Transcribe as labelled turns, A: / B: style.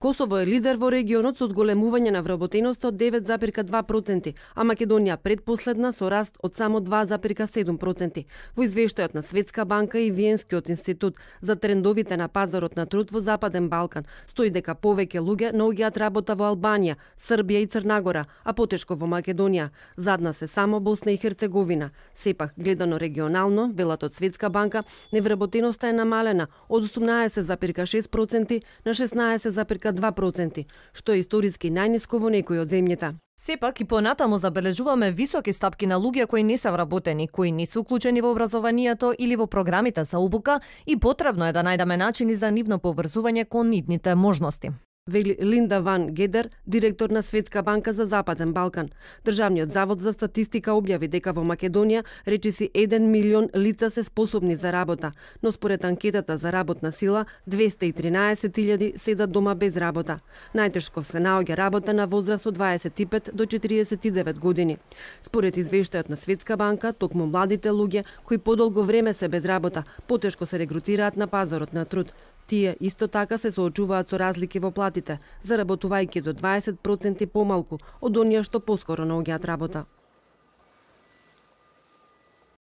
A: Косово е лидер во регионот со зголемување на вработеноста од 9,2%, а Македонија предпоследна со раст од само 2,7%. Во извештајот на Светска банка и Виенскиот институт за трендовите на пазарот на труд во Западен Балкан стои дека повеќе луѓе наоѓаат работа во Албанија, Србија и Црна Гора, а потешко во Македонија. Задна се само Босна и Херцеговина. Сепак, гледано регионално, велат од Светска банка, невработеноста е намалена од 18,6% на 16,2%, што е историски најниско во некој од земјите.
B: Сепак и понатаму забележуваме високи стапки на луѓе кои не се вработени, кои не се уклучени во образованието или во програмите за обука и потребно е да најдеме начини за нивно поврзување кон нивните можности.
A: Вели Линда Ван Гедер, директор на Светска банка за Западен Балкан. Државниот завод за статистика објави дека во Македонија речиси 1 милион лица се способни за работа, но според анкетата за работна сила 213.000 седат дома без работа. Најтешко се наоѓа работа на возраст од 25 до 49 години. Според извештајот на Светска банка, токму младите луѓе кои подолго време се без работа, потешко се регрутираат на пазарот на труд. Тие исто така се соочуваат со разлики во платите, заработувајќи до 20% помалку од оние што поскоро наоѓаат работа.